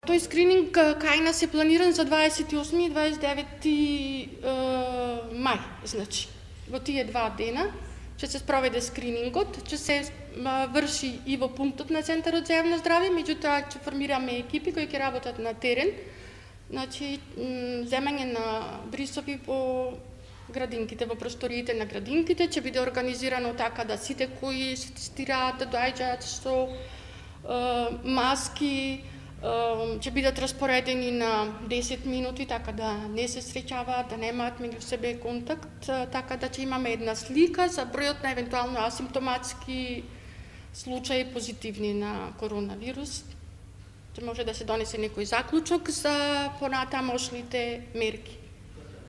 Тој скрининг кај нас е планиран за 28 и 29 мај, значи. Во тие 2 дена ќе се спроведе скринингот, ќе се врши и во пунктот на Центарот за јавно здравје, меѓутоа ќе формираме екипи кои ќе работат на терен, значи земање на брисови по градинките, во просториите на градинките, ќе биде организирано така да сите кои се тестираат, да доаѓаат со маски, ќе бидат распоредени на 10 минути, така да не се среќаваат, да немаат меѓу себе контакт, така да ќе имаме една слика за бројот на евентуално асимптоматски случаи позитивни на коронавирус. Ќе може да се донесе некој заклучок за понатамошните мерки.